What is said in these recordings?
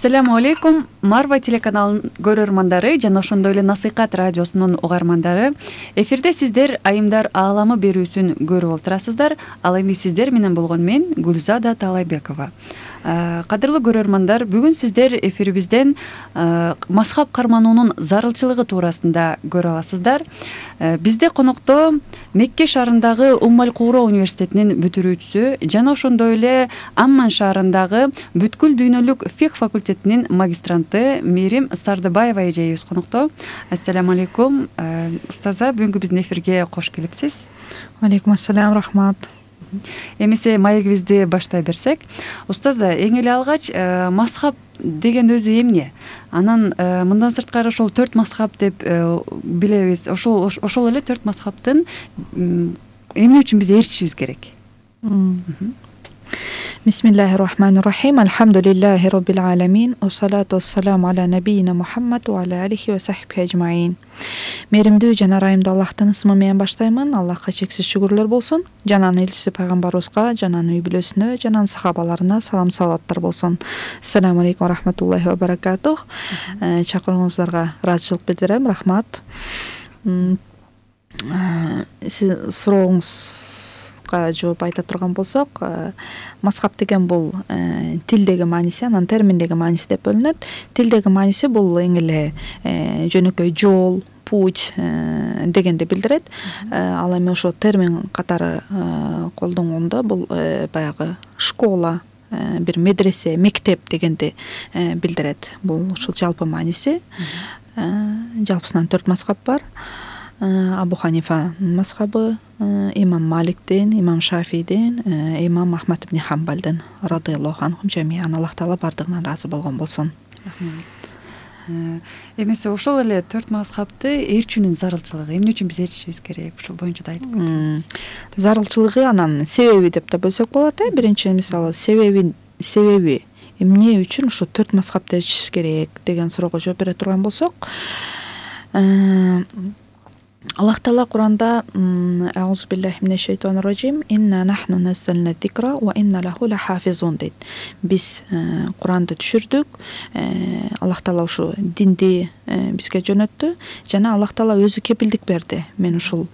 Ассаламу алейкум, Марва телеканалынын көрөрмандары жана ошондой эле Насыйкат радиосунун угармандары. Эфирде сиздер Айымдар ааламы берүүсүн көрүп отурасыздар. Ал эми сиздер менен болгон мен Гүлзада Талайбекова. Кадырлуу көрөрмандар, бүгүн сиздер эфирибизден мазхаб кармануунун зарылчылыгы туурасында көрө аласыздар. Бизде конокто Мекке шаарындагы Уммал-Кура университетинин бүтүрүүчүсү жана ошондой эле Амман шаарындагы бүткүл дүйнөлүк фикх факультетинин магистранты Мээрим Сардыбаева эжебиз конокто. Ассаламу алейкум. Устаза, бүгүнкү биздин эфирге кош келипсиз. Алейкум ассалам, рахмат. Эмесе маегибизди баштай берсек, устаза, эң эле алгач мазхаб деген өзү эмне? Анан мындан сырткары ошол 4 мазхаб деп билебиз. Ошол эле 4 мазхабтын эмне үчүн биз ээрчишибиз керек? Бисмиллахир-рахманир-рахим. Алхамдулиллахи роббил аламин. Уссалату уссаламу аля набийина Мухаммад ва аля алихи ва сахбихи ажмаин. Меримдүү жана ырайымдуу Аллахтын ысмы менен баштаймын. Аллахка чексиз шүгүрлөр болсун. Жананын элчиси пайгамбарыбызга, жананын үй бүлөсүнө, жананын сахабаларына салам салаваттар болсун. Ассаламу алейкум ва рахматуллахи ва баракатух. Чакырууңуздарга ыраазычылык билдирем. Рахмат. Сиз сурооңузга жооп айта турган болсок, мазхаб деген бул тилдеги мааниси, анан терминдеги мааниси деп бөлүнөт. Тилдеги мааниси бул эң эле жөнөкөй жол, путь дегенди билдирет. Ал эми ошо термин катары колдонгондо бул баягы школа, бир медресе, мектеп дегенди билдирет. Бул ушул жалпы мааниси. Жалпысынан 4 мазхаб бар. Абу Ханифанын мазхабы, имам Маликтин, имам Шафийдин, имам Ахмад ибн Хамбалдын радыйаллаху анхум жамиан. Аллах таала бардыгынан ыраазы болгон болсун. Эмесе ошол эле 4 мазхабты ээрчүүнүн зарылчылыгы, эмне үчүн биз ээрчишибиз керек? Ошол боюнча да айтып кетиңиз. Зарылчылыгы анан себеби деп да бөлсөк болот. Биринчи мисалы себеби эмне үчүн ошо 4 мазхабты ээрчишибиз керек деген суроого жооп бере турган болсок, Аллах таала Куранда аузу биллахи минеш шейтанир раджим инна нахну наззална зикра ва инна лаху лахафизун дейт. Биз Куранды түшүрдүк. Аллах таала ушу динди бизге жөнөттү жана Аллах таала өзү кепилдик берди. Мен ушул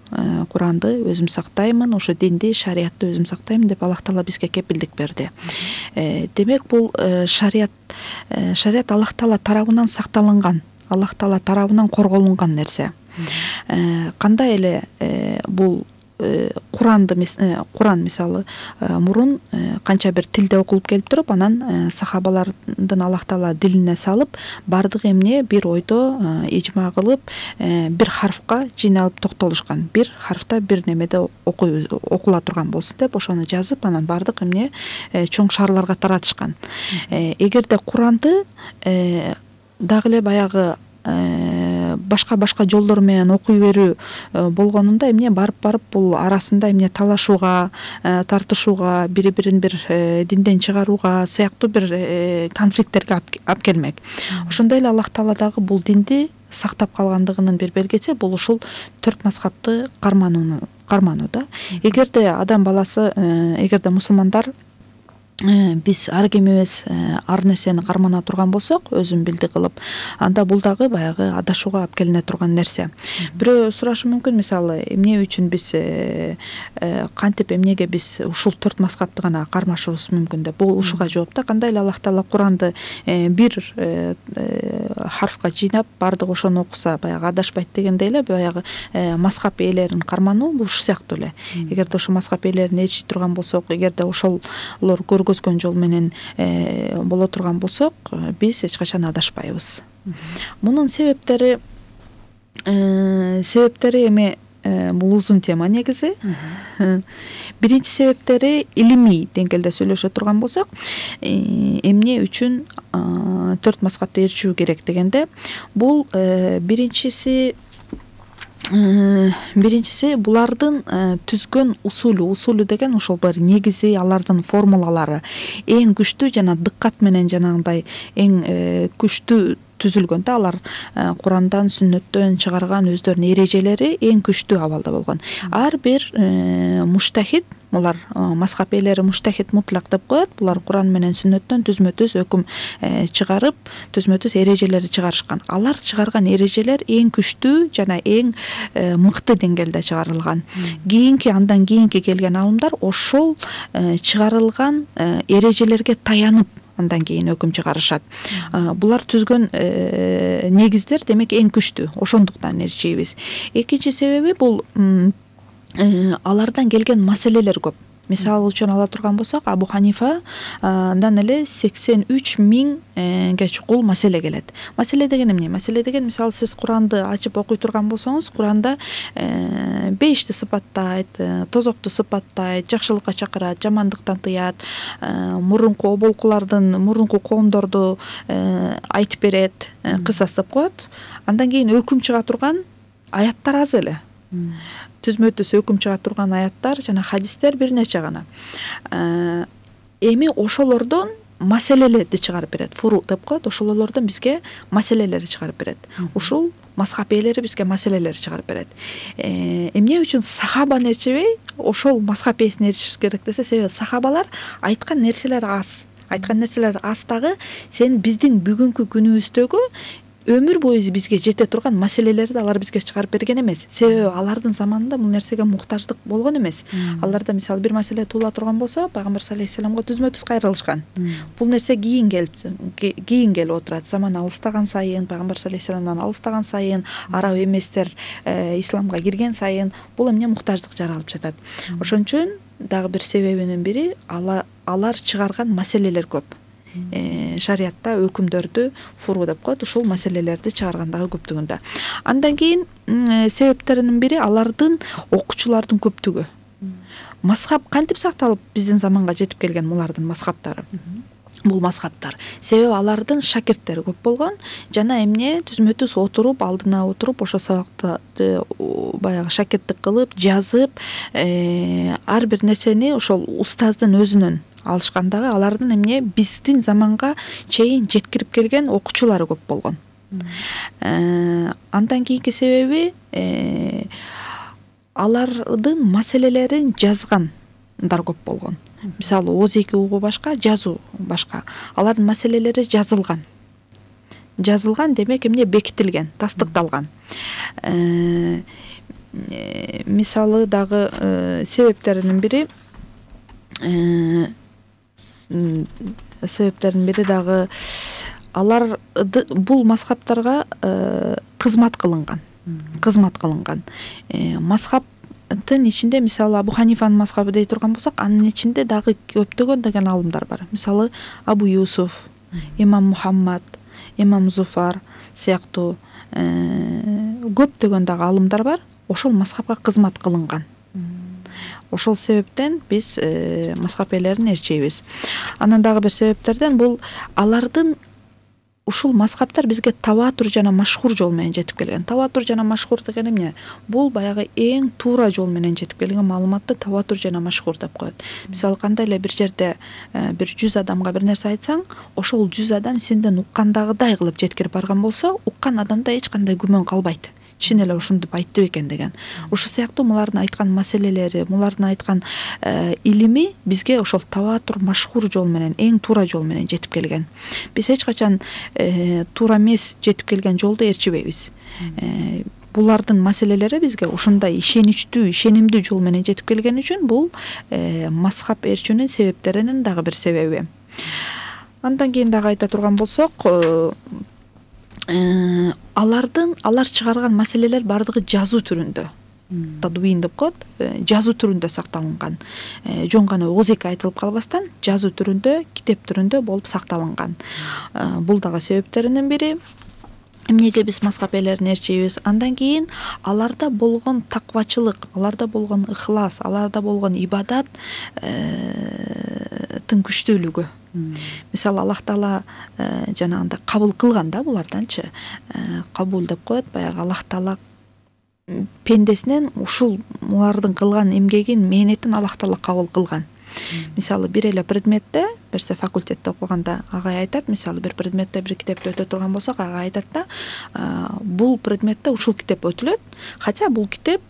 Куранды өзүм сактаймын, ошо динди, шариятты өзүм сактаймын деп Аллах таала бизге кепилдик берди. Демек бул шарият Аллах таала тарабынан сакталынган, Аллах таала тарабынан корголунган нерсе. Кандай эле бул Куран мисалы мурун канча бир тилде окулуп келип туруп, анан сахабалардын Аллах таала дилине салып, бардык эмне бир ойдо ижма кылып, бир харфка жыйналып токтолушкан. Бир харфта бир немеде окула турган болсун деп ошону жазып, анан бардык эмне чоң шаарларга таратышкан. Эгерде Куранды дагы эле баягы башка жолдор менен окуй берүү болгонунда эмне барып бул арасында эмне талашууга, тартышууга, бири-бирин бир динден чыгарууга сыяктуу бир конфликттерге алып келмек. Ошондой эле Аллах таала дагы бул динди сактап калгандыгынын бир белгиси бул ушул 4 мазхабты кармануу да. Эгерде адам баласы, эгерде мусулмандар биз ар кимибиз ар нерсени кармана турган болсок, өзүн билди кылып, анда бул дагы баягы адашууга алып келине турган нерсе. Бирөө сурашы мүмкүн, мисалы, эмне үчүн биз кантип, эмнеге биз ушул 4 мазхабты гана кармашыбыз мүмкүн деп. Бул ушуга жооп да. Кандай эле Аллах таала Куранды бир харфка жыйнап, бардык ошону окуса, баягы адашпайт дегендей эле, баягы мазхаб ээлерин кармануу бул ушул сыяктуу эле. Эгерде ошол мазхаб ээлерин ээрчи турган болсок, эгерде ошолор көргөзгөн жол менен боло турган болсок, биз эч качан адашпайбыз. Мунун себептери эми бул узун тема негизи. Биринчи себептери илимий деңгээлде сүйлөшө турган болсок, эмне үчүн 4 мазхабты ээрчүү керек дегенде, бул биринчиси булардын түзгөн усулу деген ошол бир негизи, алардын формулалары эң күчтүү жана дыккат менен жанагындай эң күчтүү түзүлгөн да, алар Курандан, сүннөттөн чыгарган өздөрүнүн эрежелери эң күчтүү абалда болгон. Ар бир муштахид, булар мазхаб ээлери муштахид мутлак деп коет. Булар Куран менен сүннөттөн түзмө-түз өкүм чыгарып, түзмө-түз эрежелерди чыгарышкан. Алар чыгарган эрежелер эң күчтүү жана эң мыкты деңгээлде чыгарылган. Андан кийинки келген алымдар ошол чыгарылган эрежелерге таянып андан кийин өкүм чыгарышат. Булар түзгөн негиздер демек эң күчтүү. Ошондуктан ээрчийбиз. Экинчи себеби бул алардан келген маселелер көп. Мисалы үчүн ала турган болсок, Абу Ханифадан эле 83 миңге чукул маселе келет. Маселе деген эмне? Маселе деген, мисалы сиз Куранды ачып окуй турган болсоңуз, Куранда бейишти сыпаттайт, тозокту сыпаттайт, жакшылыкка чакырат, жамандыктан тыят, мурунку оболкулардын, мурунку коомдорду айтып берет, кысас деп коет. Андан кийин өкүм чыга турган аяттар аз эле. Түзмө-түз өкүм чыга турган аяттар жана хадистер бир нече гана. Эми ошолордон маселелерди чыгарып берет. Фуру деп коет. Ошолордон бизге маселелерди чыгарып берет. Ушул мазхаб ээлери бизге маселелерди чыгарып берет. Эмне үчүн сахабаны ээрчебей, ошол мазхаб ээсине ээрчиш керек десе, себеби сахабалар айткан нерселер аз. Айткан нерселер аз дагы сен биздин бүгүнкү күнүбүздөгү өмүр бою бизге жете турган маселелерди алар бизге чыгарып берген эмес. Себеби алардын заманында бул нерсеге муктаждык болгон эмес. Аларда мисалы бир маселе туула турган болсо, пайгамбар саллаллаху алейхи вассаламга түзмө-түз кайрылышкан. Бул нерсе кийин келип отурат. Заман алыстаган сайын, пайгамбар саллаллаху алейхи вассаламдан алыстаган сайын, араб эместер исламга кирген сайын бул эмне муктаждык жаралып жатат. Ошон үчүн дагы бир себебинин бири алар чыгарган маселелер көп. Шариятта өкүмдөрдү фуру деп коет, ушул маселелерди чыгаргандагы көптүгүндө. Андан кийин себептеринин бири алардын окуучулардын көптүгү. Мазхаб кантип сакталып биздин заманга жетип келген булардын мазхабтары? Бул мазхабтар себеби алардын шакирттери көп болгон жана эмне түзмө-түз отуруп, алдына отуруп, ошо сабакты баягы шакирттик кылып, жазып, ар бир нерсени ошол устаздын өзүнөн алышкандагы алардын эмне биздин заманга чейин жеткирип келген окуучулары көп болгон. Андан кийинки себеби алардын маселелерин жазгандар көп болгон. Мисалы ооз-эки угуу башка, жазуу башка. Алардын маселелери жазылган. Жазылган демек эмне бекитилген, тастыкталган. Мисалы дагы себептеринин бири дагы алар бул мазхабтарга кызмат кылынган. Мазхабтын ичинде мисалы Абу Ханифанын мазхабы дей турган болсок, анын ичинде дагы көптөгөн деген алымдар бар. Мисалы Абу Юсуф, Имам Мухаммад, Имам Зуфар сыяктуу көптөгөн дагы алымдар бар. Ошол мазхабка кызмат кылынган. Ошол себептен биз мазхаб ээлерин ээрчейбиз. Анан дагы бир себептерден бул алардын ушул мазхабтар бизге таватур жана машхур жол менен жетип келген. Таватур жана машхур деген эмне? Бул баягы эң туура жол менен жетип келген маалыматты таватур жана машхур деп коет. Мисалы кандай эле бир жерде бир 100 адамга бир нерсе айтсаң, ошол 100 адам сенден уккандагыдай кылып жеткирип барган болсо, уккан адамда эч кандай күмөн калбайт. Чын эле ушинтип айтты экен деген. Ошол сыяктуу мулардын айткан маселелери, мулардын айткан илими бизге ошол таватур машхур жол менен, эң туура жол менен жетип келген. Биз эч качан туура эмес жетип келген жолду ээрчибейбиз. Булардын маселелери бизге ушундай ишеничтүү, ишенимдүү жол менен жетип келген үчүн бул мазхаб ээрчүүнүн себептеринин дагы бир себеби. Андан кийин дагы айта турган болсок, алар чыгарган маселелер бардыгы жазуу түрүндө. Тадвин деп коет, жазуу түрүндө сакталынган. Жон гана ооз-эки айтылып калбастан жазуу түрүндө, китеп түрүндө болуп сакталынган. Бул дагы себептеринин бири. Эмнеге биз мазхаб ээлерин ээрчейбиз? Андан кийин аларда болгон таквачылык, аларда болгон ыхлас, аларда болгон ибадаттын күчтүүлүгү. Мисалы Аллах Таала жанагындай кабыл кылган да буларданчы. Кабул деп коет, баягы Аллах Таала пендесинен ушул мулардын кылган эмгегин, мээнетин Аллах Таала кабыл кылган. Мисалы бир эле предметте, бирсе факультетте окуганда агай айтат, мисалы бир предметте бир китепти өтө турган болсок, агай айтат да, бул предметте ушул китеп өтүлөт, хотя бул китеп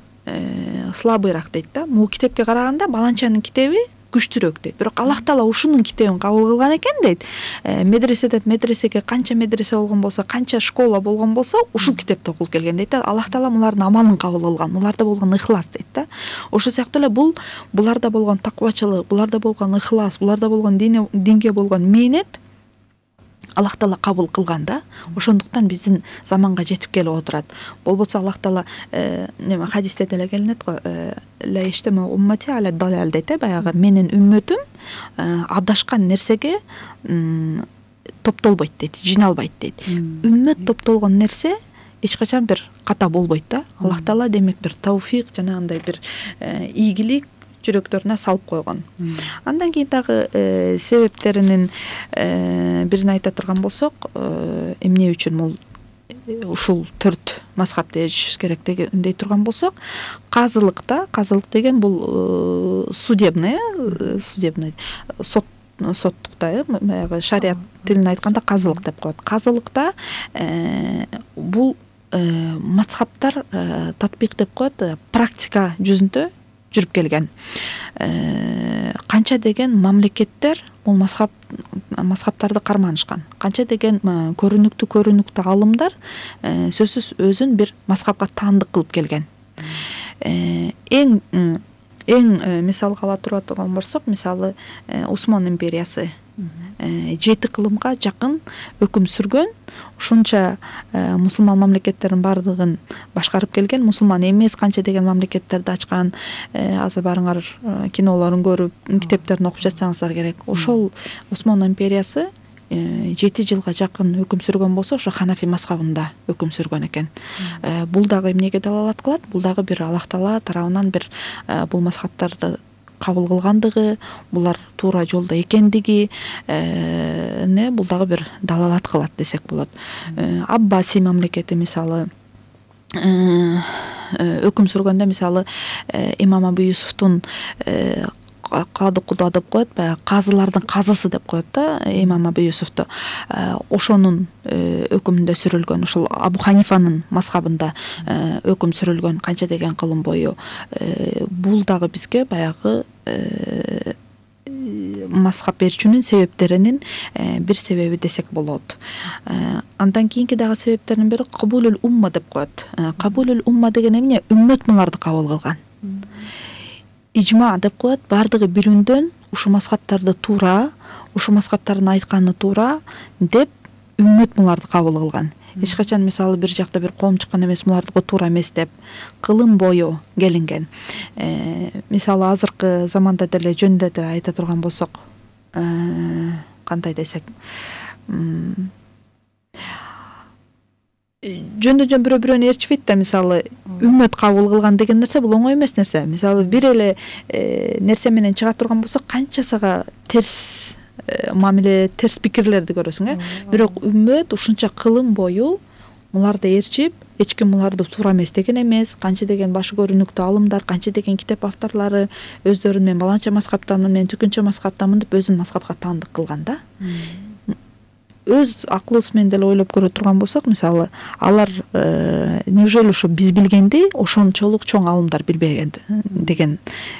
слабыйраак дейт да. Бул китепке караганда баланчанын китеби күчтүүрөөк дейт. Бирок Аллах Таала ушунун китебин кабыл кылган экен дейт. Медреседен медресеге канча медресе болгон болсо, канча школа болгон болсо, ушул китепти окулуп келген дейт да. Аллах Таала мулардын амалын кабыл кылган, муларда болгон ихлас дейт да. Ошол сыяктуу эле буларда болгон таквачылык, буларда болгон ихлас, буларда болгон динге болгон мээнет Аллах Таала кабыл кылган да. Ошондуктан биздин заманга жетип келип отурат. Болбосо Аллах Таала хадисте деле келинет го, ла иштема уммати аля далал дейт, баягы менин үммөтүм адашкан нерсеге топтолбойт дейт, жиналбайт дейт. Үммөт топтолгон нерсе эч качан бир ката болбойт да. Аллах Таала демек бир тавфик жана андай бир ийгилик жүрөктөрүнө салып койгон. Андан кийин дагы себептеринин бирин айта турган болсок, эмне үчүн ушул 4 мазхабты ээрчишибиз керек дей турган болсок, казылык деген бул судебный соттукта, баягы шарият тилинде айтканда казылык деп коет. Казылыкта бул мазхабтар татбик деп коет, практика жүзүндө жүрүп келген. Канча деген мамлекеттер бул мазхабтарды карманышкан. Канча деген көрүнүктүү алымдар сөзсүз өзүн бир мазхабка таандык кылып келген. Эң мисалга ала турган болсок, мисалы Осман империясы 7 кылымга жакын өкүм сүргөн, ушунча мусулман мамлекеттердин баардыгын башкарып келген, мусулман эмес канча деген мамлекеттерди ачкан. Азыр барыңар кинолорун көрүп, китептерин окуп жатсаңыздар керек. Ошол Осман империясы 7 жылга жакын өкүм сүргөн болсо, ошо Ханафи мазхабында өкүм сүргөн экен. Бул дагы эмнеге далалат кылат? Бул дагы бир Аллах Таала тарабынан бир бул мазхабтарды кабыл кылгандыгы, булар туура жолдо экендиги бул дагы бир далалат кылат десек болот. Аббаси мамлекети мисалы өкүм сүргөндө, мисалы имам Абу Юсуфтун кады куда деп коет, баягы казылардын казысы деп коет да, имам Абу Юсуфту. Ошонун өкүмүндө сүрүлгөн, ушул Абу Ханифанын мазхабында өкүм сүрүлгөн канча деген кылым бою. Бул дагы бизге баягы мазхаб берүүчүнүн себептеринин бир себеби десек болот. Андан кийинки дагы себептердин бири кабулул умма деп коет. Кабулул умма деген эмне? Үммөт муларды кабыл кылган. Ижма деп коет, бардыгы бирүндөн ушу мазхабтарды туура, ушу мазхабтардын айтканы туура деп үммөт муларды кабыл кылган. Эч качан мисалы бир жакта бир коом чыккан эмес, мулардыкы туура эмес деп кылым бою келинген. Мисалы азыркы заманда деле жөнүндө деле айта турган болсок, кандай десек, жөн бирөө-бирөөнү ээрчибейт да. Мисалы үммөт кабыл кылган деген нерсе бул оңой эмес нерсе. Мисалы бир эле нерсе менен чыга турган болсок, канчасага терс мамиле, терс пикирлерди көрөсүң, бирок үммөт ушунча кылым бою муларды ээрчип, эч ким муларды туура эмес деген эмес, канча деген башы көрүнүктүү алымдар, канча деген китеп авторлору өздөрүн мен баланча мазхабтамын, мен түкүнчө мазхабтамын деп өзүн мазхабка таандык кылган да. Өз акылыбыз менен деле ойлоп көрө турган болсок, мисалы алар неужели ошо биз билгенди ошончолук чоң алымдар билбеген деген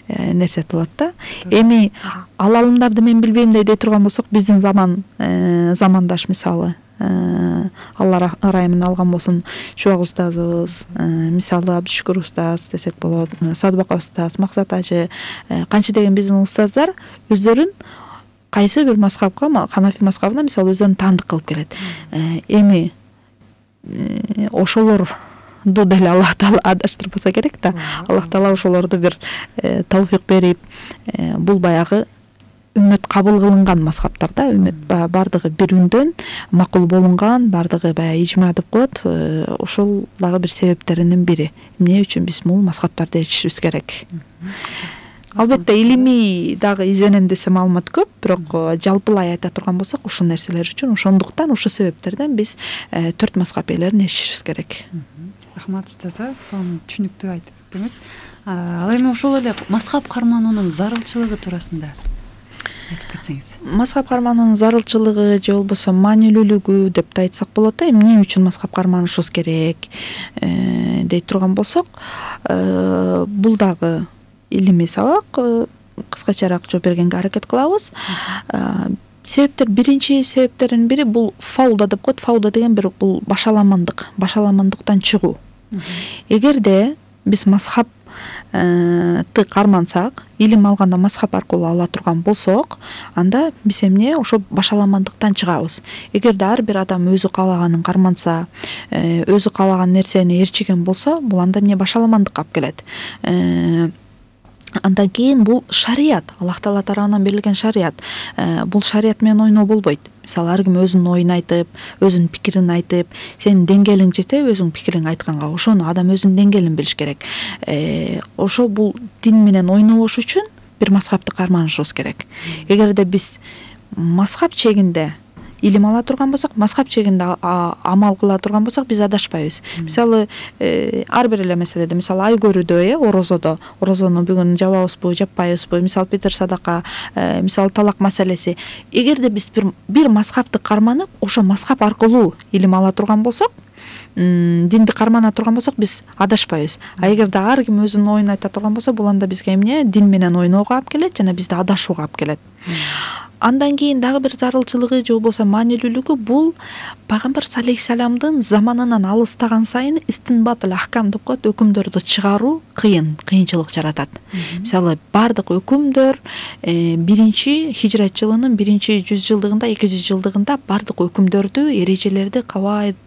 нерсе болот да. Эми ал алымдарды мен билбейм дей турган болсок, биздин замандаш мисалы Алла ырайымын алган болсун, Чубак устазыбыз, мисалы Абдышүкүр устаз десек болот, Садыбака устаз, Максат ажы, канча деген биздин устаздар өздөрүн кайсы бир мазхабка, Ханафи мазхабына мисалы өздөрүн таандык кылып келет. Эми ошолорду деле Аллах Таала адаштырбаса керек да. Аллах Таала ошолорду бир тавфик берип, бул баягы үммөт кабыл кылынган мазхабтар да. Үммөт бардыгы бир үндөн макул болунган, бардыгы баягы ижма деп коет. Ошол дагы бир себептеринин бири. Эмне үчүн биз бул мазхабтарды ээрчишибиз керек. Албетте илимий дагы изенем десе маалымат көп, бирок жалпылай айта турган болсок, ушул нерселер үчүн, ошондуктан ушул себептерден биз 4 мазхаб ээлерин ээрчишибиз керек. Рахмат устаза, сону түшүнүктүү айтып өттүңүз. Ал эми ошол эле мазхаб кармануунун зарылчылыгы туурасында айтып кетсеңиз. Мазхаб кармануунун зарылчылыгы же болбосо маанилүүлүгү деп да айтсак болот. Эмне үчүн мазхаб карманышыбыз керек дей турган болсок, бул дагы илимий сабак. Кыскачараак жооп бергенге аракет кылабыз. Себептер, биринчи себептердин бири бул фауда деп коет. Фауда деген бул башаламандыктан чыгуу. Эгерде биз мазхабты кармансак, илим алганда мазхаб аркылуу ала турган болсок, анда биз эмне ошо башаламандыктан чыгабыз. Эгерде ар бир адам өзү каалаганын карманса, өзү каалаган нерсени ээрчиген болсо, бул анда эмне башаламандыкка алып келет. Андан кийин бул шарият, Аллах Таала тарабынан берилген шарият. Бул шарият менен ойноо болбойт. Мисалы, ар ким өзүнүн оюн айтып, өзүнүн пикирин айтып, сенин деңгээлиң жете өзүң пикириңди айтканга, ошону адам өзүнүн деңгээлин билиш керек. Ошо бул дин менен ойнобош үчүн бир мазхабты карманышыбыз керек. Эгерде биз мазхаб чегинде илим ала турган болсок, мазхаб чегинде амал кыла турган болсок, биз адашпайбыз. Мисалы, ар бир эле маселеде, мисалы, ай көрүүдө, орозону бүгүн жабабызбы, жаппайбызбы, мисалы, питир садака, мисалы, талак маселеси. Эгерде биз бир мазхабты карманып, ошо мазхаб аркылуу илим ала турган болсок, динди кармана турган болсок, биз адашпайбыз. А эгерде ар ким өзүнүн оюн айта турган болсо, бул анда бизге эмне? Дин менен ойноого алып келет жана бизди адашууга алып келет. Андан кийин дагы бир зарылчылыгы же болбосо маанилүүлүгү бул Пайгамбар алейхиссаламдын заманынан алыстаган сайын истинбатыл ахкам деп коет, өкүмдөрдү чыгаруу кыйынчылык жаратат. Мисалы, бардык өкүмдөр биринчи хижрат жылынын биринчи 100 жылдыгында, 200 жылдыгында бардык өкүмдөрдү, эрежелерди, кавайд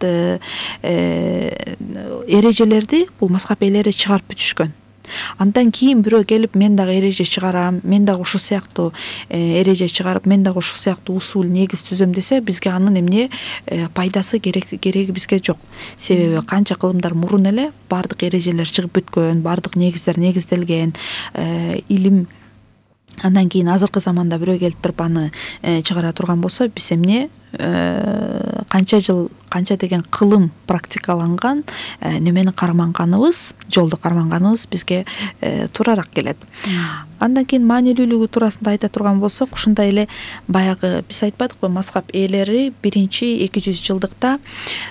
эрежелерди бул мазхаб ээлери чыгарып бүтүшкөн. Андан кийин бирөө келип, мен дагы эреже чыгарам, мен дагы ушул сыяктуу эреже чыгарып, мен дагы ушул сыяктуу усул, негиз түзөм десе, бизге анын эмне пайдасы, кереги бизге жок. Себеби канча кылымдар мурун эле бардык эрежелер чыгып бүткөн, бардык негиздер негизделген, илим. Андан кийин азыркы заманда бирөө келип туруп аны чыгара турган болсо, биз эмне канча деген кылым практикаланган немени карманганыбыз, жолду карманганыбыз бизге туурараак келет. Андан кийин маанилүүлүгү туурасында айта турган болсок, ушундай эле баягы биз айтпадыкпы, мазхаб ээлери биринчи 200 жылдыкта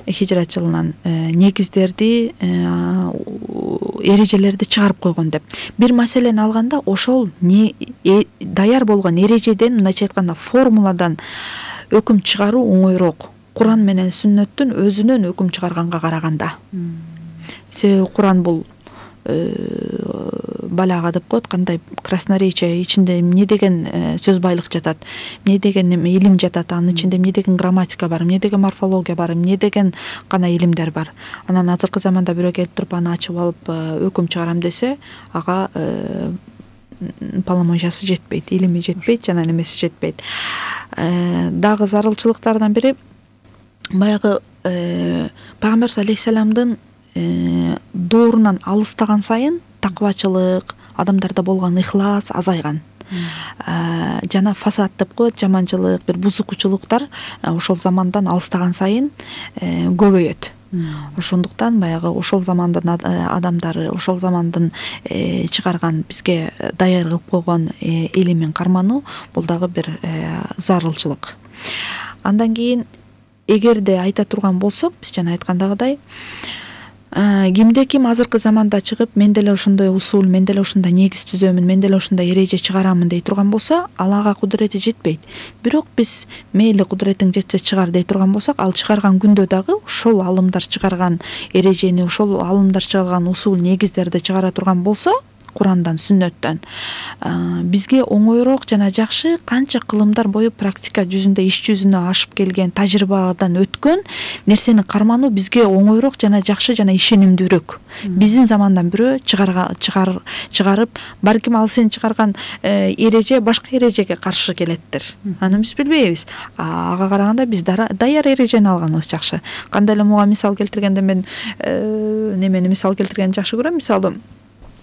хижрат жылынан негиздерди, эрежелерди чыгарып койгон деп. Бир маселени алганда, ошол даяр болгон эрежеден, мындайча айтканда, формуладан өкүм чыгаруу оңойроок. Куран менен сүннөттүн өзүнөн өкүм чыгарганга караганда. Себеби Куран бул балага деп коет, кандай красноречие, ичинде эмне деген сөз байлык жатат, эмне деген илим жатат, анын ичинде эмне деген грамматика бар, эмне деген морфология бар, эмне деген гана илимдер бар. Анан азыркы заманда бирөө келип туруп аны ачып алып өкүм чыгарам десе, ага полномочиясы жетпейт, илими жетпейт, жана немеси жетпейт. Дагы зарылчылыктардан бири баягы Пайгамбар алейхиссаламдын доорунан алыстаган сайын таквачылык, адамдарда болгон ихлас азайган. Жана фасад деп коет, жаманчылык, бир бузукчулуктар ошол замандан алыстаган сайын көбөйөт. Ошондуктан баягы ошол замандын адамдары, ошол замандын чыгарган, бизге даяр кылып койгон илимин кармануу бул дагы бир зарылчылык. Андан кийин эгерде айта турган болсок, биз жана айткандагыдай, кимде ким азыркы заманда чыгып, мен деле ошондой усул, мен деле ушундай негиз түзөмүн, мен деле ушундай эреже чыгарамын дей турган болсо, алага кудурети жетпейт. Бирок биз мейли кудуретиң жетсе чыгар дей турган болсок, ал чыгарган күндө дагы ошол алымдар чыгарган эрежени, ошол алымдар чыгарган усул, негиздерди чыгара турган болсо, Курандан, сүннөттөн, бизге оңойроок жана жакшы канча кылымдар бою практика жүзүндө, иш жүзүнө ашып келген, тажрыйбадан өткөн нерсени кармануу бизге оңойроок жана жакшы жана ишенимдүүрөөк. Биздин замандан бирөө чыгарып, балким ал сен чыгарган эреже башка эрежеге каршы келеттир. Аны биз билбейбиз. Ага караганда биз даяр эрежени алганыбыз жакшы. Кандай эле муга мисал келтиргенде, мен немени мисал келтиргенди жакшы көрөм. Мисалы,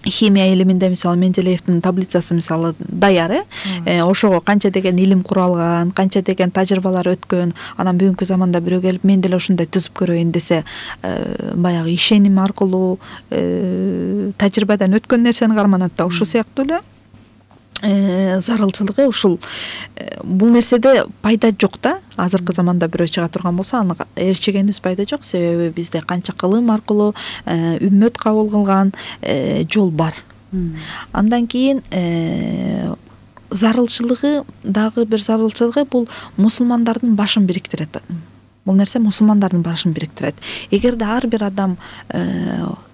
химия илиминде, мисалы, Менделеевдин таблицасы мисалы даяр, ошого канча деген илим куралган, канча деген тажрыйбалар өткөн. Анан бүгүнкү заманда бирөө келип, мен деле ушундай түзүп көрөйүн десе, баягы ишеним аркылуу, тажрыйбадан өткөн нерсени карманат да. Ошол сыяктуу эле зарылчылыгы ушул бул нерседе пайда жок да. Азыркы заманда бирөө чыга турган болсо аны ээрчегенибиз пайда жок, себеби бизде канча кылым аркылуу үммөт кабыл кылган жол бар. Андан кийин зарылчылыгы дагы бир зарылчылыгы бул мусулмандардын башын бириктирет. Бул нерсе мусулмандардын башын бириктирет. Эгерде ар бир адам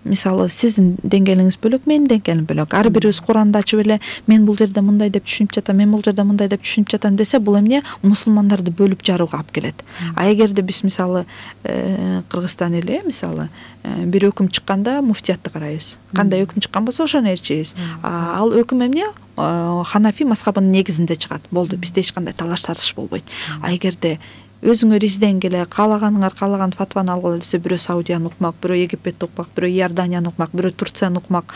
мисалы сиздин деңгээлиңиз бөлөк, менин деңгээлим бөлөк, ар бирибиз Куранды ачып эле мен бул жерде мындай деп түшүнүп жатам, мен бул жерде мындай деп түшүнүп жатам десе, бул эмне мусулмандарды бөлүп жарууга алып келет. А эгерде биз мисалы Кыргызстан эли мисалы бир өкүм чыкканда муфтиятты карайбыз. Кандай өкүм чыккан болсо ошону ээрчейбиз. Ал өкүм эмне? Ханафи мазхабынын негизинде чыгат. Болду, бизде эч кандай талаш тартыш болбойт. А эгерде өзүңөр изденгиле каалаганыңар каалаган фатваны алгыла десе, бирөө Саудияны укмак, бирөө Египетти укмак, бирөө Иорданияны укмак, бирөө Турцияны укмак,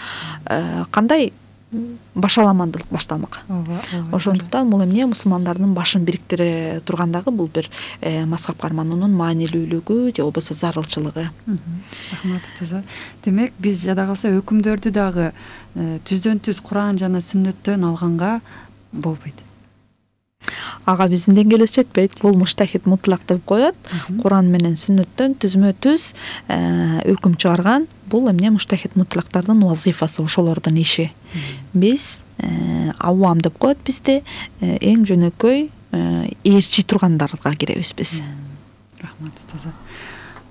кандай башаламандылык башталмак. Ошондуктан бул эмне мусулмандардын башын бириктире тургандагы бул бир мазхаб кармануунун маанилүүлүгү же болбосо зарылчылыгы. Рахмат устаза. Демек биз жада калса өкүмдөрдү дагы түздөн түз Куран жана сүннөттөн алганга болбойт. Ага биздин деңгээлибиз жетпейт. Бул муштахид мутлак деп коет. Куран менен сүннөттөн түзмө түз өкүм чыгарган. Бул эмне муштахид мутлактардын вазифасы, ошолордун иши. Биз авам деп коет бизде, эң жөнөкөй ээрчи тургандарга киребиз биз. Рахмат устаза.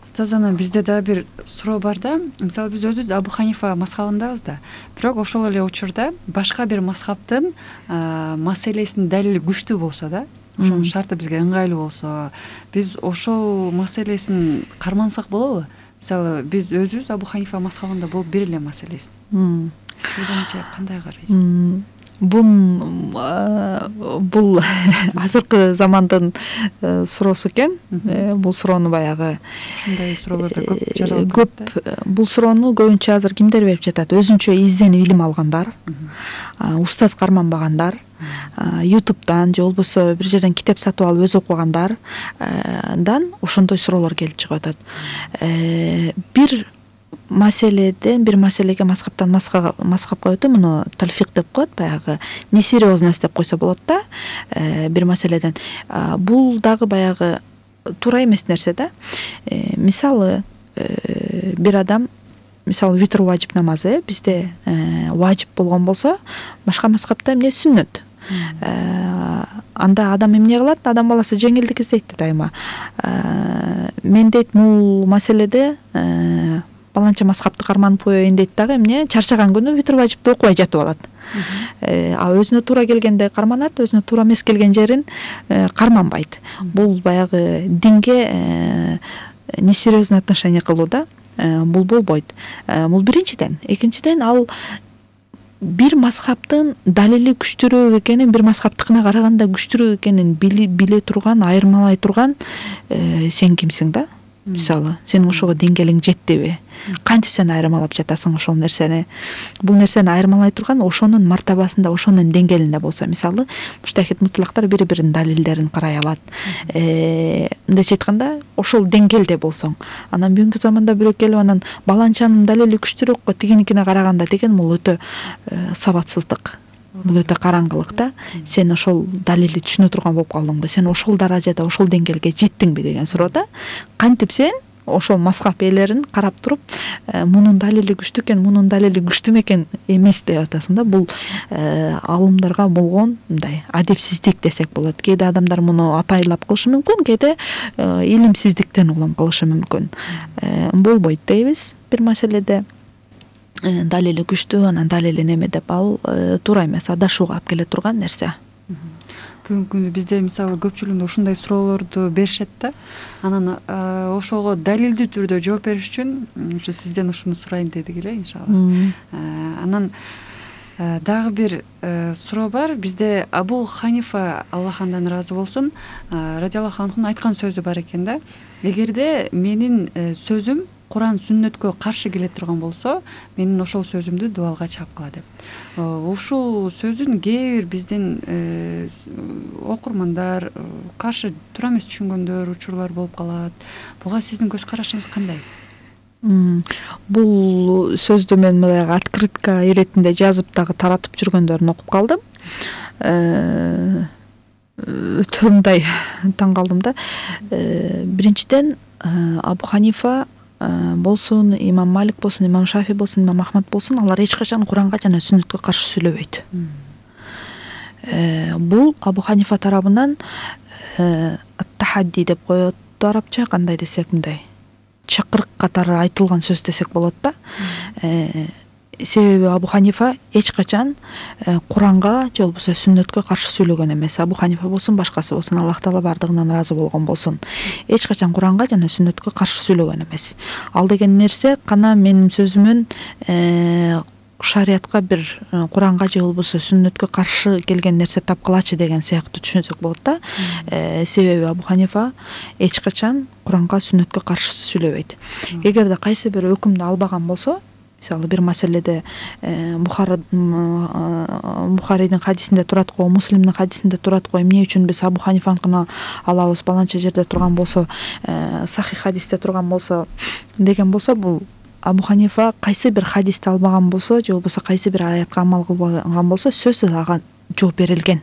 Устазана, бизде да бир суроо бар да. Мисалы биз өзүбүз Абу Ханифа мазхабындабыз да. Бирок ошол эле учурда башка бир мазхабтын маселесинин далили күчтүү болсо да, ошонун шарты бизге ыңгайлуу болсо, биз ошол маселесин кармансак болобу? Мисалы биз өзүбүз Абу Ханифа мазхабында болуп бир эле маселесин. Ошондойча кандай карайсыз? Бул азыркы замандын суроосу экен. Бул суроону баягы ушундай суроолор да көп жаралып көп. Бул суроону көбүнчө азыр кимдер берип жатат? Өзүнчө изденип илим алгандар, устаз карманбагандар, YouTube'дан же болбосо бир жерден китеп сатып алып өз окугандардан ошондой суроолор келип чыгып атат. Бир маселеге мазхабтан мазхабка өтүү, муну талфик деп коет, баягы несерьезность деп койсо болот да. Бир маселеден бул дагы баягы туура эмес нерсе да. Мисалы бир адам мисалы витр важип намазы бизде важип болгон болсо, башка мазхабта эмне сүннөт. Анда адам эмне кылат? Адам баласы жеңилдик издейт дайыма. Мен дейт бул маселеде баланча мазхабты карманып коеюн дейт дагы эмне чарчаган күнү витр важипти окубай жатып алат. Өзүнө туура келгенде карманат, өзүнө туура эмес келген жерин карманбайт. Бул баягы динге несерьезный отношение кылуу да. Бул болбойт. Бул биринчиден. Экинчиден, ал бир мазхабтын далили күчтүүрөөк экенин, бир мазхабтыкына караганда күчтүүрөөк экенин биле турган, айырмалай турган сен кимсиң да? Мисалы, сенин ошого деңгээлиң жеттиби? Кантип сен айырмалап жатасың ошол нерсени? Бул нерсени айырмалай турган ошонун мартабасында, ошонун деңгээлинде болсо, мисалы, муштахид мутлактар бири-биринин далилдерин карай алат. Мындайча айтканда, ошол деңгээлде болсоң, анан бүгүнкү заманда бирөө келип анан баланчанын далили күчтүүрөөк го тигиникине караганда деген бул өтө сабатсыздык. Бул өтө караңгылык да. Сен ошол далилди түшүнө турган болуп калдыңбы? Сен ошол даражада, ошол деңгээлге жеттиңби деген суроо да. Кантип сен ошол мазхаб ээлерин карап туруп, мунун далили күчтүү экен, мунун далили күчтүү экен эмес деп атасың да. Бул алымдарга болгон мындай адепсиздик десек болот. Кээде адамдар муну атайлап кылышы мүмкүн, кээде илимсиздиктен улам кылышы мүмкүн. Болбойт дейбиз бир маселеде. Далили күчтүү, анан далили неме деп ал туура эмес, адашууга алып келе турган нерсе. Бүгүнкү күндө бизде мисалы көпчүлүгүндө ушундай суроолорду беришет да. Анан ошого далилдүү түрдө жооп бериш үчүн ушу сизден ушуну сурайын дедик эле, иншалла. Анан дагы бир суроо бар. Бизде Абу Ханифа, Аллах андан ыраазы болсун, радиаллаху анхунун айткан сөзү бар экен да. Эгерде менин сөзүм Куран сүннөткө каршы келе турган болсо, менин ошол сөзүмдү дубалга чапкыла деп. Ушул сөзүн кээ бир биздин окурмандар каршы туура эмес түшүнгөндөр, учурлар болуп калат. Буга сиздин көз карашыңыз кандай? Бул сөздү мен мындай открытка иретинде жазып дагы таратып жүргөндөрүн окуп калдым. өтө мындай таң калдым да. Биринчиден Абу Ханифа болсун, имам Малик болсун, имам Шафи болсун, имам Ахмад болсун, алар эч качан Куранга жана сүннөткө каршы сүйлөбөйт. Бул Абу Ханифа тарабынан ат-тахадди деп коет арабча, кандай десек мындай чакырык катары айтылган сөз десек болот да. Себеби Абу Ханифа эч качан Куранга же болбосо сүннөткө каршы сүйлөгөн эмес. Абу Ханифа болсун, башкасы болсун, Аллах Таала бардыгынан ыраазы болгон болсун, эч качан Куранга жана сүннөткө каршы сүйлөгөн эмес. Ал деген нерсе кана менин сөзүмөн шариятка бир Куранга же болбосо сүннөткө каршы келген нерсе тапкылачы деген сыяктуу түшүнсөк болот да. Себеби Абу Ханифа эч качан Куранга сүннөткө каршы сүйлөбөйт. Эгерде кайсы бир өкүмдү албаган болсо, мисалы бир маселеде Бухарийдин хадисинде турат го, Муслимдин хадисинде турат го, эмне үчүн биз Абу Ханифаныкына алабыз, баланча жерде турган болсо, сахих хадисте турган болсо деген болсо, бул Абу Ханифа кайсы бир хадисти албаган болсо же болбосо кайсы бир аятка амал кылбаган болсо, сөзсүз ага жооп берилген.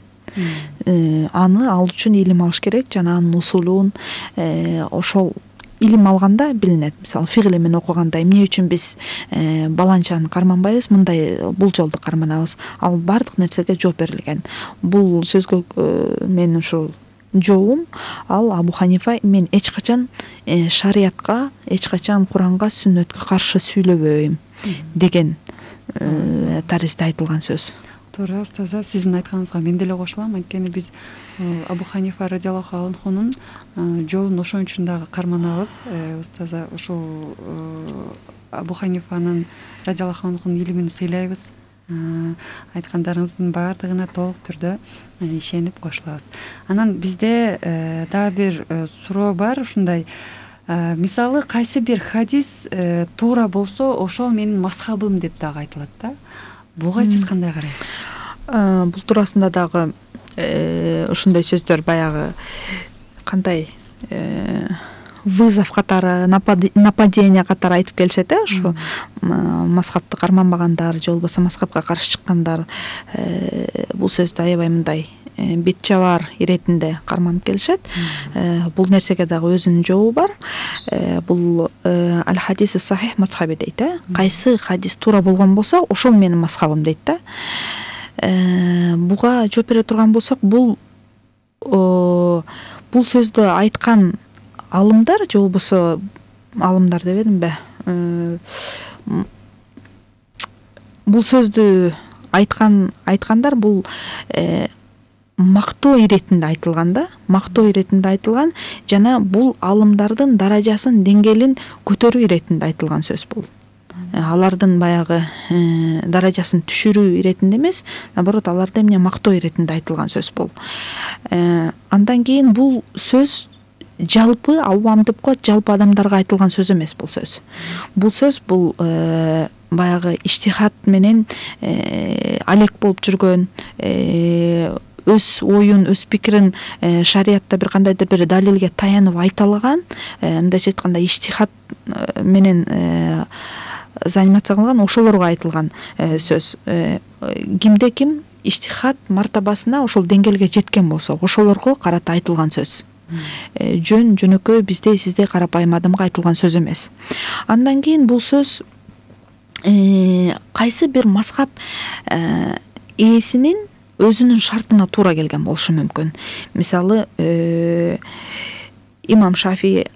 Аны ал үчүн илим алыш керек жана анын усулун ошол илим алганда билинет. Мисалы фиг илимин окуганда эмне үчүн биз баланчаны карманбайбыз, мындай бул жолду карманабыз. Ал бардык нерсеге жооп берилген. Бул сөзгө менин ушул жообум, ал Абу Ханифа мен эч качан шариятка, эч качан Куранга, сүннөткө каршы сүйлөбөйм деген таризде айтылган сөз. Туура, устаза, сиздин айтканыңызга мен деле кошулам. Анткени биз Абу Ханифа радиаллаху анхунун жолун ошон үчүн дагы карманабыз. Устаза, ушул Абу Ханифанын радиаллаху анхунун илимин сыйлайбыз. Айткандарыңыздын баардыгына толук түрдө ишенип кошулабыз. Анан бизде дагы бир суроо бар, ушундай. Мисалы кайсы бир хадис туура болсо, ошол менин мазхабым деп дагы айтылат да. Буга сиз кандай карайсыз? Бул туурасында дагы ушундай сөздөр баягы кандай вызов катары, нападение катары айтып келишет, ушу мазхабты карманбагандар же болбосо мазхабка каршы чыккандар бул сөздү аябай мындай бет жабар иретинде карманып келишет. Бул нерсеге дагы өзүнүн жообу бар. Бул аль-хадис сахих мазхаби дейт. Кайсы хадис туура болгон болсо, ошол менин мазхабым дейт да. Буга жооп бере турган болсок, бул сөздү айткан алымдар же болбосо алымдар дебедимби? Бул сөздү айткандар бул мактоо иретинде айтылган да, мактоо иретинде айтылган жана бул алымдардын даражасын, деңгээлин көтөрүү иретинде айтылган сөз бул. Алардын баягы даражасын түшүрүү иретинде эмес, наоборот, аларды эмне мактоо иретинде айтылган сөз бул. Андан кийин бул сөз жалпы авам деп коет, жалпы адамдарга айтылган сөз эмес бул сөз. Бул сөз бул баягы иштихад менен алек болуп жүргөн, өз оюн, өз пикирин шариятта бир кандайдыр бир далилге таянып айта алган, мындайча айтканда иштихад менен занимация кылган ошолорго айтылган сөз. Кимде ким иштихад мартабасына ошол деңгээлге жеткен болсо, ошолорго карата айтылган сөз. Жөнөкөй биздей сиздей карапайым адамга айтылган сөз эмес. Андан кийин бул сөз кайсы бир мазхаб ээсинин өзүнүн шартына туура келген болушу мүмкүн. Мисалы, имам Шафи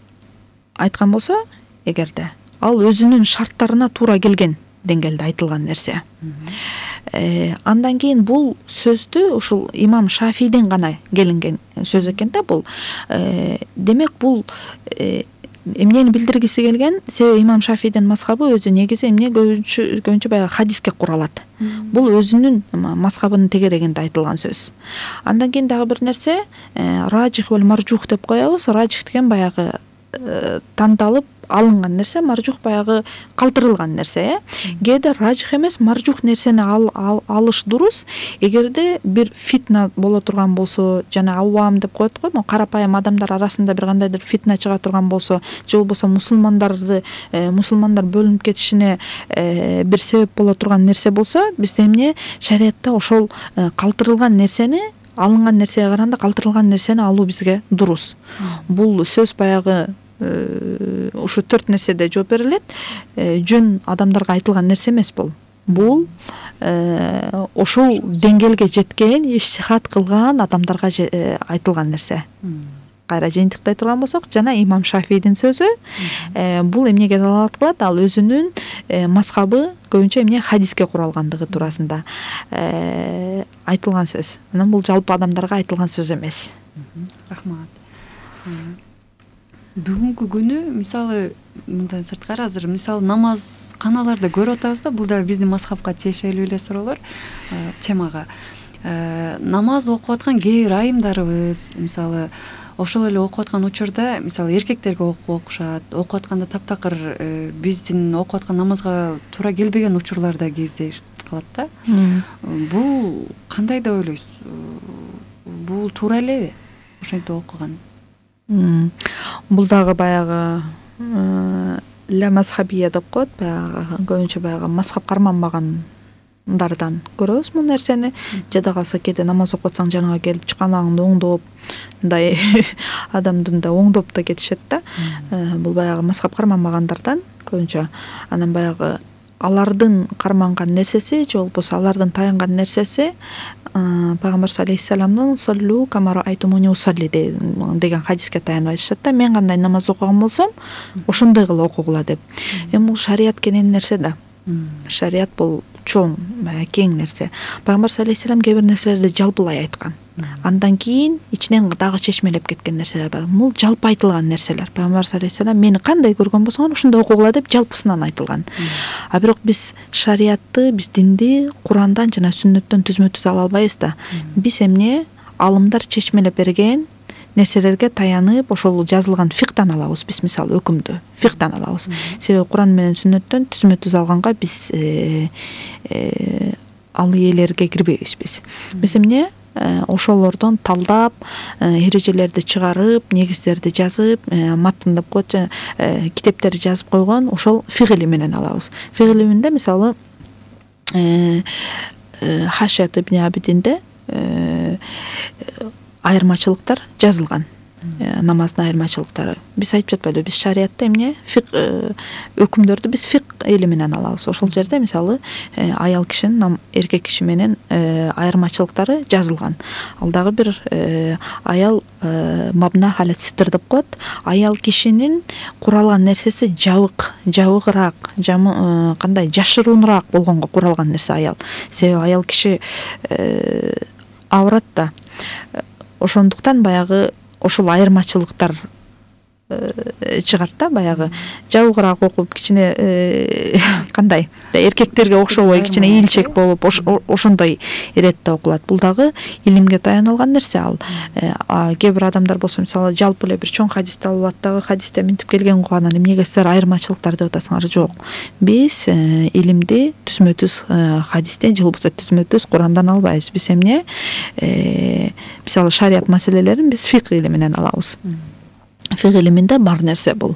айткан болсо, эгерде ал өзүнүн шарттарына туура келген деңгээлде айтылган нерсе. Андан кийин бул сөздү ушул имам Шафиден гана келинген сөз экен да бул. Демек бул эмнени билдиргиси келген? Себеби имам Шафидин мазхабы өзү негизи эмне көбүнчө баягы хадиске куралат. Бул өзүнүн мазхабынын тегерегинде айтылган сөз. Андан кийин дагы бир нерсе, раджих вал маржух деп коебуз. Раджих деген баягы тандалып алынган нерсе, маржух баягы калтырылган нерсе, кээде ражих эмес маржух нерсени алыш дурус. Эгерде бир фитна боло турган болсо, жана авам деп коет го, карапайым адамдар арасында бир кандайдыр фитна чыга турган болсо, же болбосо мусулмандар бөлүнүп кетишине бир себеп боло турган нерсе болсо, бизде эмне шариятта ошол калтырылган нерсени, алынган нерсеге караганда калтырылган нерсени алуу бизге дурус. Бул сөз баягы ушу 4 нерседе жооп берилет. Жөн адамдарга айтылган нерсе эмес бул. Бул ошол деңгээлге жеткен, ишсихат кылган адамдарга айтылган нерсе. Кайра жыйынтыктай турган болсок, жана имам Шафийдин сөзү, бул эмнеге далалат кылат? Ал өзүнүн мазхабы көбүнчө эмне хадиске куралгандыгы туурасында айтылган сөз. Анан бул жалпы адамдарга айтылган сөз эмес. Рахмат. Бүгүнкү күнү мисалы мындан сырткары азыр мисалы намаз каналарда көрүп атабыз да, бул да биздин мазхабка тиешелүү эле суроолор темага. Намаз окуп аткан кээ бир айымдарыбыз мисалы ошол эле окуп аткан учурда мисалы эркектерге окушат, окуп атканда таптакыр биздин окуп аткан намазга туура келбеген учурлар да кездешип калат да. Бул кандай деп ойлойсуз? Бул туура элеби ошентип окуган? Бул дагы баягы ля мазхабия деп коет, баягы көбүнчө баягы мазхаб карманбагандардан көрөбүз бул нерсени. Жада калса кээде намаз окуп атсаң жаныңа келип чыканагыңды оңдоп, мындай адамды мындай оңдоп да кетишет да. Бул баягы мазхаб карманбагандардан көбүнчө. Анан баягы алардын карманган нерсеси же болбосо алардын таянган нерсеси Пайгамбар алейхиссаламдын соллу камара айтумуни усалли деген хадиске таянып айтышат да. Мен кандай намаз окуган болсом, ошондой кыла окугула деп. Эми бул шарият кенен нерсе да. Шарият бул чоң, кең нерсе. Пайгамбар алейхиссалам кээ бир нерселерди жалпылай айткан. Андан кийин ичинен дагы чечмелеп кеткен нерселер бар. Бул жалпы айтылган нерселер. Пайгамбар алейхиссалам мени кандай көргөн болсоң, ошондой окугула деп жалпысынан айтылган. А бирок биз шариятты, биз динди Курандан жана сүннөттөн түзмө-түз ала албайбыз да. Биз эмне алымдар чечмелеп берген нерселерге таянып, ошол жазылган фиктан алабыз. Биз мисалы өкүмдү фиктан алабыз. Себеби Куран менен сүннөттөн түзмө-түз алганга биз ал ээлерге кирбейбиз биз. Биз эмне ошолордон талдап, эрежелерди чыгарып, негиздерди жазып, матын деп коет, китептерди жазып койгон ошол фиг илиминен алабыз. Фиг илиминде мисалы Хашият ибн Абидинде айырмачылыктар жазылган. Намаздын айырмачылыктары. Биз айтып жатпайбызбы, биз шариятта эмне фиг өкүмдөрдү биз фиг илиминен алабыз. Ошол жерде мисалы аял кишинин эркек киши менен айырмачылыктары жазылган. Ал дагы бир аял мабна халат ситр деп коет. Аял кишинин куралган нерсеси жабыгыраак, кандай жашыруунураак болгонго куралган нерсе аял. Себеби аял киши аврат да. Ошондуктан баягы ошол айырмачылыктар чыгат да, баягы жабыгыраак окуп кичине кандай эркектерге окшобой кичине ийилчек болуп ошондой иретте окулат. Бул дагы илимге таянылган нерсе. Ал кээ бир адамдар болсо мисалы жалпы эле бир чоң хадисти алып дагы хадисте мынтип келген го, анан эмнеге силер айырмачылыктар деп атасыңар? Жок. Биз илимди түзмө-түз хадистен же болбосо түзмө-түз Курандан албайбыз. Биз эмне мисалы шарият маселелерин биз фик илиминен алабыз. Фиг илиминде бар нерсе бул.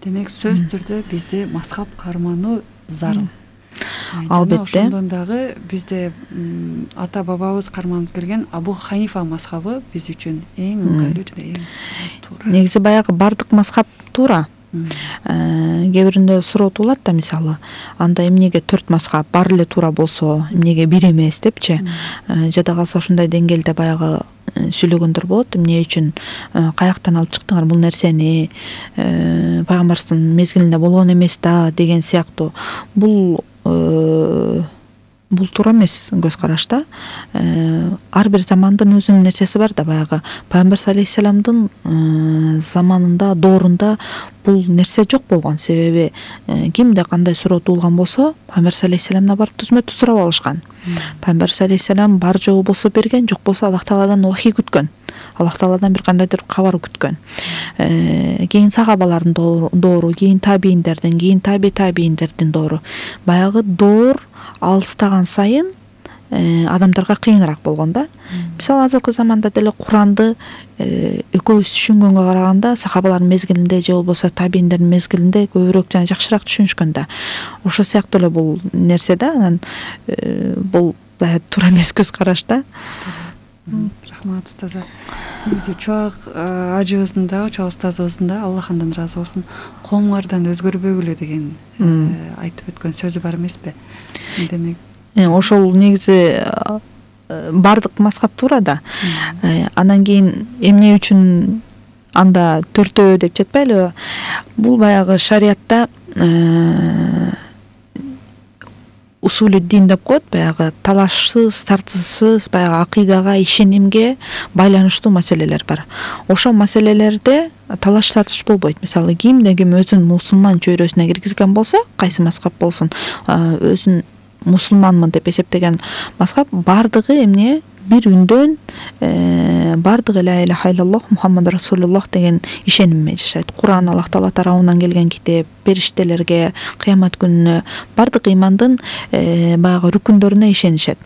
Демек сөз түрдө бизде мазхаб кармануу зарыл. Албетте. Ошондон дагы бизде ата бабабыз карманып келген Абу Ханифа мазхабы биз үчүн эң ыңгайлуу жана эң туура. Негизи баягы бардык мазхаб туура. Кээ биринде суроо туулат да, мисалы анда эмнеге 4 мазхаб бар эле туура болсо, эмнеге бир эмес депчи. Жада калса ушундай деңгээлде баягы сүйлөгөндөр болот. Эмне үчүн каяктан алып чыктыңар бул нерсени? Пайгамбардын мезгилинде болгон эмес да деген сыяктуу. Бул бул туура эмес көз караш да. Ар бир замандын өзүнүн нерсеси бар да. Баягы пайгамбар алейхисаламдын заманында, доорунда бул нерсе жок болгон. Себеби кимде кандай суроо туулган болсо, пайгамбар алейхисаламдан барып түзмө-түз сурап алышкан. Пайгамбар алейхисалам бар жогу болсо берген, жок болсо Аллах Тааладан вахий күткөн. Аллах Тааладан бир кандайдыр кабар күткөн. Кийин сахабалардын доору, кийин табийиндердин, кийин табийиндердин доору. Баягы доор алыстаган сайын адамдарга кыйыныраак болгон да. Мисалы азыркы заманда деле Куранды экөөбүз түшүнгөнгө караганда сахабалардын мезгилинде же болбосо табийиндердин мезгилинде көбүрөөк жана жакшыраак түшүнүшкөн да. Ошо сыяктуу эле бул нерсе да. Анан бул туура эмес көз караш да. Рахмат устаза. Негизи чоак ажыбыздын да, чоак устазыбыздын да, Аллах андан ыраазы болсун, коомуңардан өзгөрбөгүлө деген айтып өткөн сөзү бар эмеспи? Демек ошол негизи бардык мазхаб туура да. Анан кийин эмне үчүн анда төртөө деп жатпайлыбы? Бул баягы шариатта усулу дин деп коет, баягы талашсыз, тартышсыз, баягы акыйдага, ишенимге байланыштуу маселелер бар. Ошол маселелерде талаш тартыш болбойт. Мисалы, кимде ким өзүн мусулман чөйрөсүнө киргизген болсо, кайсы мазхаб болсун, өзүн мусулманмын деп эсептеген мазхаб бардыгы эмне бир үндөн бардыгы ла иляха иллаллах Мухаммад Расулуллах деген ишеним менен жашайт. Куран Аллах Таала тарабынан келген китеп, периштелерге, кыямат күнүнө, бардык имандын баягы рүкүндөрүнө ишенишет.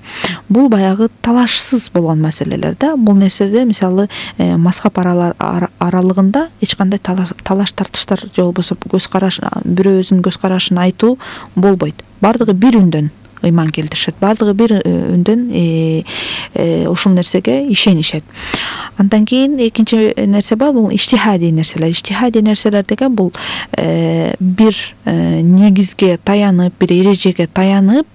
Бул баягы талашсыз болгон маселелер да. Бул нерседе мисалы мазхаб аралыгында эч кандай талаш тартыштар же болбосо көз караш, бирөө өзүнүн көз карашын айтуу болбойт. Бардыгы бир үндөн ыйман келтиришет. Бардыгы бир үндөн ушул нерсеге ишенишет. Андан кийин экинчи нерсе бар, бул иштихадий нерселер. Иштихадий нерселер деген бул бир негизге таянып, бир эрежеге таянып,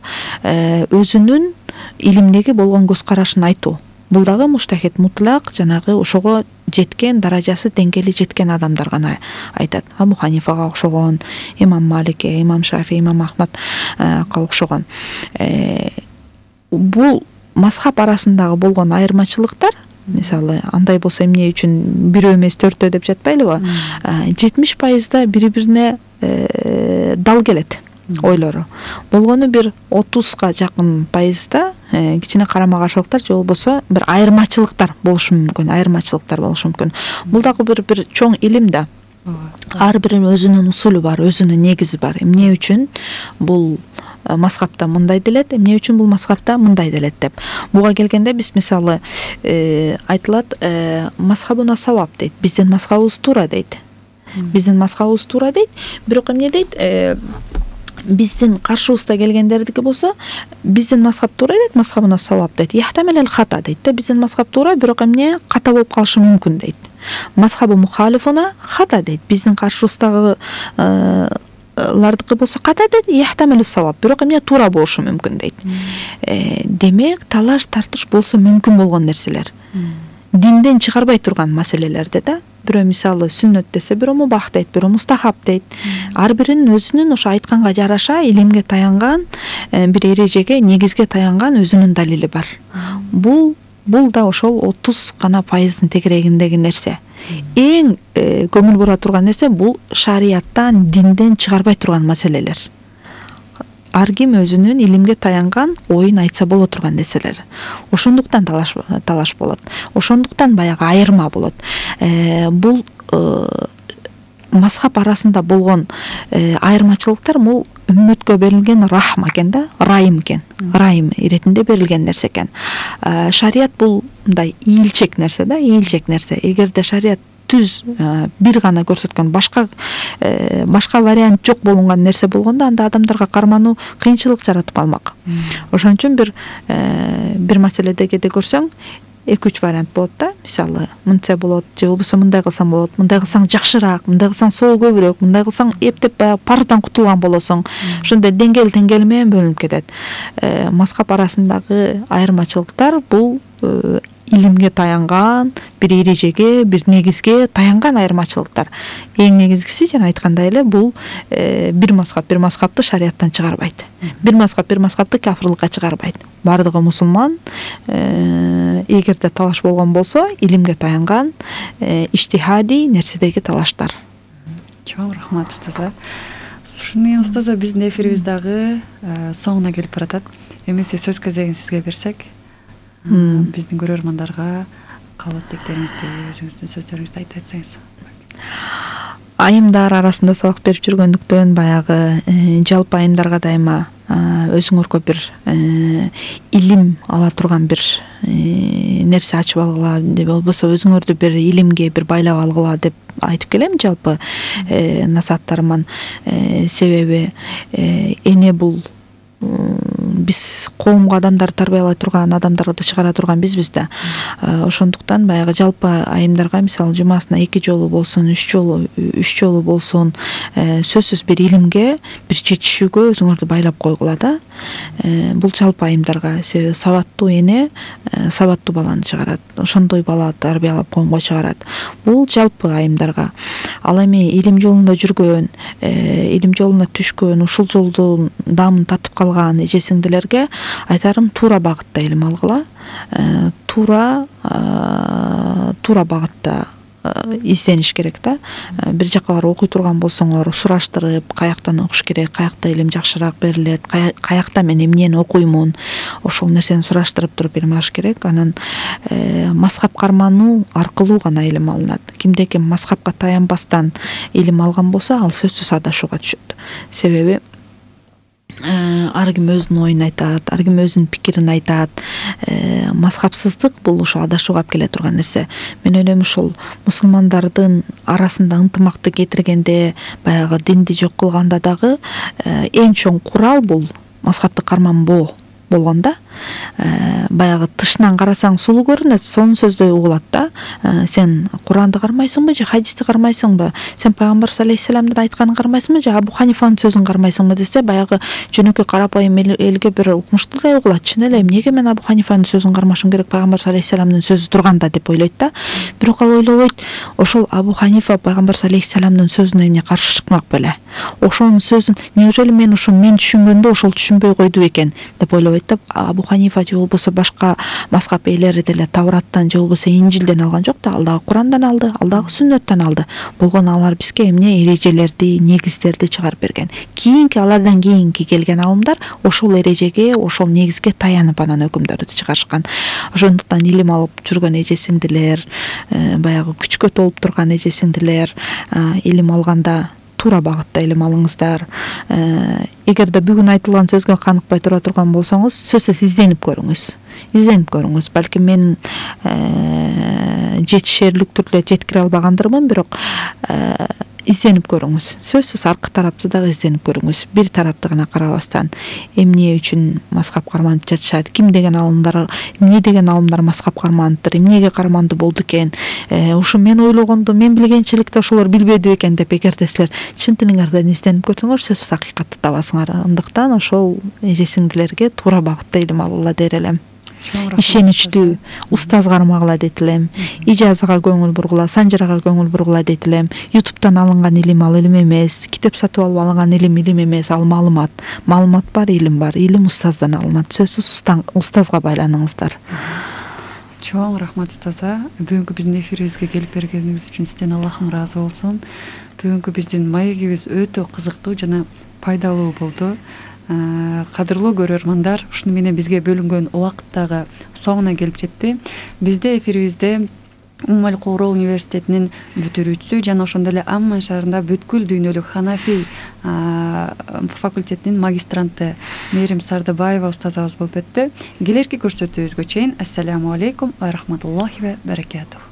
өзүнүн илимдеги болгон көз карашын айтуу. Бул дагы муштахид, мутлак, жанагы ошого жеткен, даражасы, деңгээли жеткен адамдар гана айтат. Абу Ханифага окшогон, имам Маликке, имам Шафи, имам Ахмадга окшогон. Бул мазхаб арасындагы болгон айырмачылыктар, мисалы, андай болсо эмне үчүн бирөө эмес төртөө деп жатпайлыбы? 70% бири-бирине дал келет ойлору. Болгону бир 30га жакын пайызда кичине карама каршылыктар же болбосо бир айырмачылыктар болушу мүмкүн. Бул дагы бир чоң илим да. Ар биринин өзүнүн усулу бар, өзүнүн негизи бар. Эмне үчүн бул мазхабта мындай делет, эмне үчүн бул мазхабта мындай делет деп. Буга келгенде биз мисалы айтылат, мазхабуна савап дейт. Биздин мазхабыбыз туура дейт. Бирок эмне дейт? Биздин каршыбызда келгендердики болсо, биздин мазхаб туура дейт, мазхабуна савап дейт. Яхтамел хата дейт да, биздин мазхаб туура, бирок эмне ката болуп калышы мүмкүн дейт. Мазхабы мухалифуна хата дейт. Биздин каршыбыздагы лардыкы болсо ката дейт, яхтамел савап, бирок эмне туура болушу мүмкүн дейт. Демек, талаш тартыш болсо мүмкүн болгон нерселер. Динден чыгарбай турган маселелерде да. Бирөө мисалы сүннөт десе, бирөө мубах дейт, бирөө мустахаб дейт. Ар биринин өзүнүн ошо айтканга жараша илимге таянган, бир эрежеге, негизге таянган өзүнүн далили бар. Бул да ошол 30% тегерегиндеги нерсе. Эң көңүл бура турган нерсе бул шарияттан, динден чыгарбай турган маселелер. Ар ким өзүнүн илимге таянган оюн айтса боло турган нерселер. Ошондуктан талаш болот. Ошондуктан баягы айырма болот. Бул мазхаб арасында болгон айырмачылыктар бул үммөткө берилген рахма экен да, райым экен. Райым иретинде берилген нерсе экен. Шарият бул мындай ийилчек нерсе да, ийилчек нерсе. Эгерде шарият түз бир гана көрсөткөн, башка вариант жок болгон нерсе болгондо, анда адамдарга кармануу кыйынчылык жаратып калмак. Ошон үчүн бир маселедеги көрсөң, 2-3 вариант болот да. Мисалы, мынча болот, же болбосо мындай кылсаң болот, мындай кылсаң жакшыраак, мындай кылсаң соо көбүрөөк, мындай кылсаң эптеп парыздан кутулган болосуң. Ошондой деңгээл менен бөлүнүп кетет. Мазхаб арасындагы айырмачылыктар бул илимге таянган, бир эрежеге, бир негизге таянган айырмачылыктар. Эң негизгиси жана айткандай эле бул бир мазхапты шарияттан чыгарбайт. Бир мазхапты кафирлыкка чыгарбайт. Бардыгы мусулман, эгерде талаш болгон болсо, илимге таянган иштихади нерседеги талаштар. Чоң рахмат устаза. Ушуну менен устаза биздин эфирибиз дагы соңуна келип баратат. Эмесе сөз кезегин сизге берсек, биздин көрөрмандарга кабат тектериңизди, өзүңүздүн сөздөрүңүздү айтып айтсаңыз. Айымдар арасында сабак берип жүргөндүктөн баягы жалпы айымдарга дайыма өзүңөргө бир илим ала турган бир нерсе ачып алгыла, же болбосо өзүңөрдү бир илимге бир байлап алгыла деп айтып келем жалпы насааттарыман. Себеби эне бул биз коомго адамдар тарбиялай турган, адамдарды чыгара турган бизбиз да. Ошондуктан баягы жалпы айымдарга мисалы жумасына 2 жолу болсун, 3 жолу болсун, сөзсүз бир илимге, бир жетишүүгө өзүңөрдү байлап койгула да. Бул жалпы айымдарга, себеби сабаттуу эне сабаттуу баланы чыгарат. Ошондой бала тарбиялап коомго чыгарат. Бул жалпы айымдарга. Ал эми илим жолунда жүргөн, илим жолуна түшкөн, ушул жолдун дамын татып калган эже-сиңдилерге айтарым туура багытта илим алгыла. Туура багытта издениш керек да. Бир жакка барып окуй турган болсоңор, сураштырып, каяктан окуш керек, каякта илим жакшыраак берилет, каякта мен эмнени окуймун, ошол нерсени сураштырып туруп илим алыш керек. Анан мазхап кармануу аркылуу гана илим алынат. Кимде-ким мазхапка таянбастан илим алган болсо, ал сөзсүз адашууга түшөт. Себеби ар ким өзүнүн оюн айтат, ар ким өзүнүн пикирин айтат. Мазхапсыздык бул ошо адашууга алып келе турган нерсе. Мен ойлойм ушул мусулмандардын арасында ынтымакты кетиргенде, баягы динди жок кылганда дагы эң чоң курал бул мазхапты карманбоо болгондо. Баягы тышынан карасаң сулуу көрүнөт, сонун сөздөй угулат да. Сен Куранды кармайсыңбы же хадисти кармайсыңбы? Сен пайгамбар алейхиссаламдын айтканын кармайсыңбы же Абу Ханифанын сөзүн кармайсыңбы десе, баягы жөнөкөй карапайым элге бир укмуштуу эле угулат. Чын эле эмнеге мен Абу Ханифанын сөзүн кармашым керек, пайгамбар алейхиссаламдын сөзү турганда деп ойлойт да. Бирок ал ойлобойт, ошол Абу Ханифа пайгамбар алейхиссаламдын сөзүнө эмне каршы чыкмак беле? Ошонун сөзүн неужели мен түшүнгөндө ошол түшүнбөй койду экен деп ойлобойт да. Абу Ханифа же болбосо башка мазхап ээлери деле Тавраттан же болбосо Инжилден алган жок да, ал дагы Курандан алды, ал дагы Сүннөттөн алды. Болгону алар бизге эмне эрежелерди, негиздерди чыгарып берген. Алардан кийинки келген алымдар ошол эрежеге, ошол негизге таянып анан өкүмдөрдү чыгарышкан. Ошондуктан илим алып жүргөн эже-сиңдилер, баягы күчкө толуп турган эже-сиңдилер, илим алганда туура багытта илим алыңыздар. Эгерде бүгүн айтылган сөзгө каныкпай тура турган болсоңуз, сөзсүз изденип көрүңүз. Балким мен жетишерлик түрдө жеткире албагандырмын, бирок изденип көрүңүз. Сөзсүз аркы тарапты дагы изденип көрүңүз. Бир тарапты гана карабастан, эмне үчүн мазхап карманып жатышат, эмне деген алымдар мазхап карманыптыр, эмнеге карманды болду экен, ушу мен ойлогондо, мен билгенчиликте ошолор билбеди экен деп эгерде силер чын тилиңерден изденип көрсөңөр, сөзсүз акыйкатты табасыңар. Андыктан ошол эже-сиңдилерге туура багытта илим алгыла дер элем. Ишеничтүү устаз кармагыла дейт элем. Ижазага көңүл бургула, санжырага көңүл бургула дейт элем. YouTube'дан алынган илим ал илим эмес, китеп сатып алып алынган илим эмес, ал маалымат. Маалымат бар, илим бар. Илим устаздан алынат. Сөзсүз устазга байланыңыздар. Чоң рахмат устаза. Бүгүнкү биздин эфирибизге келип бергениңиз үчүн сизден Аллахым ыраазы болсун. Бүгүнкү биздин маегибиз өтө кызыктуу жана пайдалуу болду. Кадырлуу көрөрмандар, ушуну менен бизге бөлүнгөн убакыт дагы соңуна келип жетти. Бизде эфирибизде Уммал Кура университетинин бүтүрүүчүсү жана ошондой эле Амман шаарында бүткүл дүйнөлүк Ханафи факультетинин магистранты Мээрим Сардыбаева устазыбыз болуп өттү. Келерки көрсөтүүбүзгө чейин ассаламу алейкум ва рахматуллахи ва баракатух.